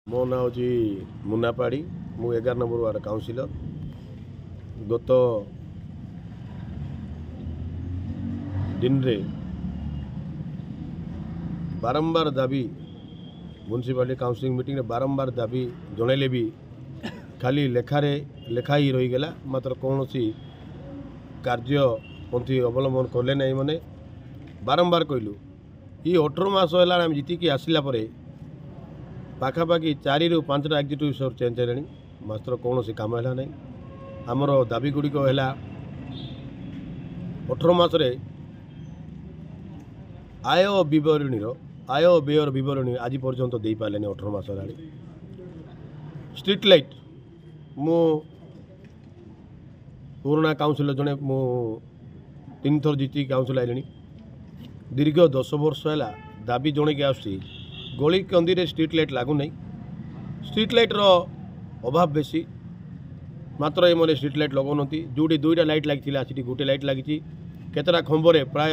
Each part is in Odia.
ମୋ ନାଁ ହେଉଛି ମୁନା ପାଢ଼ୀ। ମୁଁ 11 ନମ୍ବର ୱାର୍ଡ଼ କାଉନସିଲର। ଗତ ଦିନରେ ବାରମ୍ବାର ଦାବି, ମ୍ୟୁନିସିପାଲିଟି କାଉନସିଲିଂ ମିଟିଂରେ ବାରମ୍ବାର ଦାବି ଜଣାଇଲେ ବି ଖାଲି ଲେଖାରେ ଲେଖା ହେଇ ରହିଗଲା, ମାତ୍ର କୌଣସି କାର୍ଯ୍ୟପନ୍ଥୀ ଅବଲମ୍ବନ କଲେ ନାହିଁ। ମାନେ ବାରମ୍ବାର କହିଲୁ, ଇଏ 18 ମାସ ହେଲାଣି ଆମେ ଜିତିକି ଆସିଲା ପରେ ପାଖାପାଖି 4ରୁ 5ଟା ଏକ୍ଜିକ୍ୟୁଟିଭ୍ ଅଫିସର ଚେଞ୍ଜ ହେଲେଣି, ମାତ୍ର କୌଣସି କାମ ହେଲା ନାହିଁ। ଆମର ଦାବି ଗୁଡ଼ିକ ହେଲା, 18 ମାସରେ ଆୟ ବିବରଣୀର, ଆୟ ବ୍ୟୟର ବିବରଣୀ ଆଜି ପର୍ଯ୍ୟନ୍ତ ଦେଇପାରିଲେନି, 18 ମାସ ହେଲାଣି। ଷ୍ଟ୍ରିଟ୍ ଲାଇଟ୍, ମୁଁ ପୁରୁଣା କାଉନସିଲର ଜଣେ, ମୁଁ 3ଥର ଜିତିକି କାଉନସିଲ ଆଇଲିଣି। ଦୀର୍ଘ 10 ବର୍ଷ ହେଲା ଦାବି ଜଣେଇକି ଆସୁଛି, ଗଳି କନ୍ଦିରେ ଷ୍ଟ୍ରିଟ୍ ଲାଇଟ୍ ଲାଗୁନାହିଁ, ଷ୍ଟ୍ରିଟ୍ ଲାଇଟ୍ର ଅଭାବ ବେଶୀ, ମାତ୍ର ଏମାନେ ଷ୍ଟ୍ରିଟ୍ ଲାଇଟ୍ ଲଗାଉନାହାନ୍ତି। ଯେଉଁଠି 2ଟା ଲାଇଟ୍ ଲାଗିଥିଲା ସେଠି ଗୋଟେ ଲାଇଟ୍ ଲାଗିଛି। କେତେଟା ଖମ୍ବରେ, ପ୍ରାୟ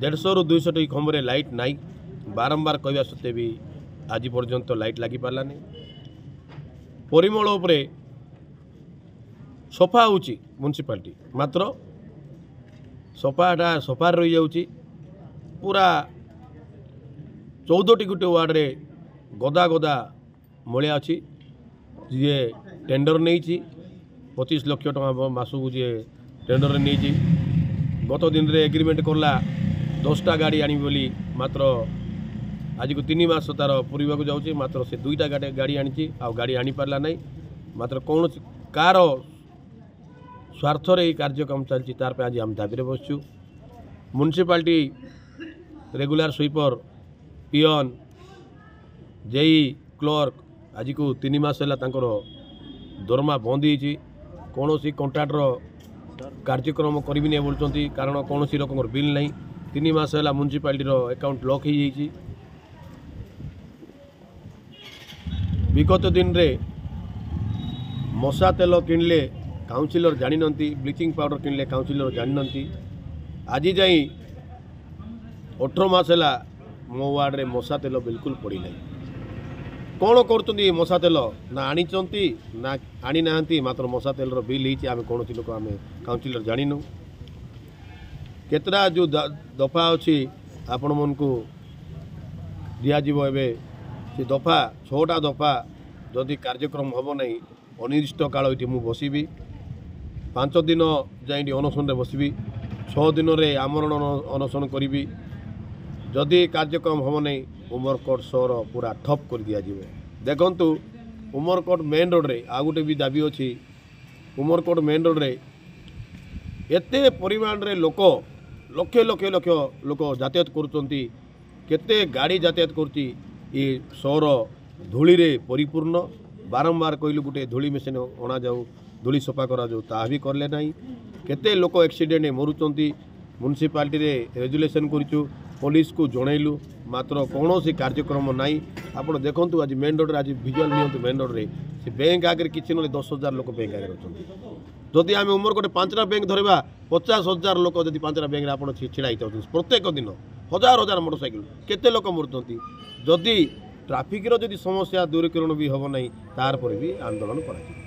150ରୁ 200ଟି ଖମ୍ବରେ ଲାଇଟ୍ ନାହିଁ। ବାରମ୍ବାର କହିବା ସତ୍ତ୍ୱେ ବି ଆଜି ପର୍ଯ୍ୟନ୍ତ ଲାଇଟ୍ ଲାଗିପାରିଲାନି। ପରିମଳ ଉପରେ ସଫା ହେଉଛି ମ୍ୟୁନିସିପାଲିଟି, ମାତ୍ର ସଫାଟା ସଫାରେ ରହିଯାଉଛି। ପୁରା 14ଟି ଗୋଟେ ୱାର୍ଡ଼ରେ ଗଦା ଗଦା ମଳିଆ ଅଛି। ଯିଏ ଟେଣ୍ଡର ନେଇଛି 25 ଲକ୍ଷ ଟଙ୍କା ମାସକୁ, ଯିଏ ଟେଣ୍ଡର ନେଇଛି, ଗତ ଦିନରେ ଏଗ୍ରିମେଣ୍ଟ କଲା 10ଟା ଗାଡ଼ି ଆଣିବି ବୋଲି, ମାତ୍ର ଆଜିକୁ 3 ମାସ ତା'ର ପୁରିବାକୁ ଯାଉଛି, ମାତ୍ର ସେ 2ଟା ଗାଡ଼ି ଆଣିଛି, ଆଉ ଗାଡ଼ି ଆଣିପାରିଲା ନାହିଁ। ମାତ୍ର କୌଣସି କାହାର ସ୍ୱାର୍ଥରେ ଏଇ କାର୍ଯ୍ୟକ୍ରମ ଚାଲିଛି, ତାର ପାଇଁ ଆଜି ଆମେ ଦାବିରେ ବସିଛୁ। Municipality regular sweeper, peon, JE, clerk ଆଜିକୁ 3 ମାସ ହେଲା ତାଙ୍କର ଦରମା ବନ୍ଦ ହେଇଛି। କୌଣସି କଣ୍ଟ୍ରାକ୍ଟର କାର୍ଯ୍ୟକ୍ରମ କରିବିନି ବୋଲୁଛନ୍ତି, କାରଣ କୌଣସି ରକମର ବିଲ୍ ନାହିଁ। 3 ମାସ ହେଲା ମ୍ୟୁନିସିପାଲିଟିର ଆକାଉଣ୍ଟ ଲକ୍ ହେଇଯାଇଛି। ବିଗତ ଦିନରେ ମଶା ତେଲ କିଣିଲେ କାଉନସିଲର ଜାଣିନାହାନ୍ତି, ବ୍ଲିଚିଂ ପାଉଡ଼ର କିଣିଲେ କାଉନସିଲର ଜାଣିନାହାନ୍ତି। ଆଜି ଯାଇ 18 ମାସ ହେଲା ମୋ ୱାର୍ଡ଼ରେ ମଶା ତେଲ ବିଲକୁଲ ପଡ଼ିନାହିଁ। କ'ଣ କରୁଛନ୍ତି? ମଶା ତେଲ ନା ଆଣିଛନ୍ତି ନା ଆଣିନାହାନ୍ତି, ମାତ୍ର ମଶା ତେଲର ବିଲ୍ ହେଇଛି, ଆମେ କୌଣସି ଲୋକ, ଆମେ କାଉନସିଲର ଜାଣିନୁ। କେତେଟା ଯେଉଁ ଦଫା ଅଛି ଆପଣମାନଙ୍କୁ ଦିଆଯିବ ଏବେ, ସେ ଦଫା 6ଟା ଦଫା ଯଦି କାର୍ଯ୍ୟକ୍ରମ ହେବ ନାହିଁ, ଅନିର୍ଦ୍ଦିଷ୍ଟ କାଳ ଏଠି ମୁଁ ବସିବି। 5 ଦିନ ଯାଇ ଏଠି ଅନଶନରେ ବସିବି, 6 ଦିନରେ ଆମରଣ ଅନଶନ କରିବି। ଯଦି କାର୍ଯ୍ୟକ୍ରମ ହେବ ନାହିଁ, ଉମରକୋଟ ସହର ପୁରା ଠପ୍ କରିଦିଆଯିବ। ଦେଖନ୍ତୁ, ଉମରକୋଟ ମେନ୍ ରୋଡ଼ରେ ଆଉ ଗୋଟେ ବି ଦାବି ଅଛି। ଉମରକୋଟ ମେନ୍ ରୋଡ଼ରେ ଏତେ ପରିମାଣରେ ଲୋକ, ଲକ୍ଷ ଲକ୍ଷ ଲକ୍ଷ ଲୋକ ଯାତାୟାତ କରୁଛନ୍ତି, କେତେ ଗାଡ଼ି ଯାତାୟାତ କରୁଛି, ଏ ସହର ଧୂଳିରେ ପରିପୂର୍ଣ୍ଣ। ବାରମ୍ବାର କହିଲୁ ଗୋଟେ ଧୂଳି ମେସିନ୍ ଅଣାଯାଉ, ଧୂଳି ସଫା କରାଯାଉ, ତାହା ବି କଲେ ନାହିଁ। କେତେ ଲୋକ ଆକ୍ସିଡେଣ୍ଟ ମରୁଛନ୍ତି। ମ୍ୟୁନିସିପାଲିଟିରେ ରେଜୁଲେସନ୍ କରିଛୁ, ପୋଲିସକୁ ଜଣାଇଲୁ, ମାତ୍ର କୌଣସି କାର୍ଯ୍ୟକ୍ରମ ନାହିଁ। ଆପଣ ଦେଖନ୍ତୁ ଆଜି ମେନ୍ ରୋଡ଼ରେ, ଆଜି ଭିଜୁଆଲ୍ ନିଅନ୍ତୁ, ମେନ୍ ରୋଡ଼ରେ ସେ ବ୍ୟାଙ୍କ ଆଗରେ କିଛି ନହେଲେ 10,000 ଲୋକ ବ୍ୟାଙ୍କ ଆଗରେ ଅଛନ୍ତି। ଯଦି ଆମେ ଉମରକୋଟ 5ଟା ବ୍ୟାଙ୍କ ଧରିବା, 50,000 ଲୋକ ଯଦି 5ଟା ବ୍ୟାଙ୍କରେ ଆପଣ ଛିଡ଼ା ହେଇଯାଉଛନ୍ତି ପ୍ରତ୍ୟେକ ଦିନ, ହଜାର ହଜାର ମୋଟରସାଇକେଲ, କେତେ ଲୋକ ମରୁଛନ୍ତି। ଯଦି ଟ୍ରାଫିକ୍ର ଯଦି ସମସ୍ୟା ଦୂରୀକରଣ ବି ହେବ ନାହିଁ, ତାର ପରେ ବି ଆନ୍ଦୋଳନ କରାଯିବ।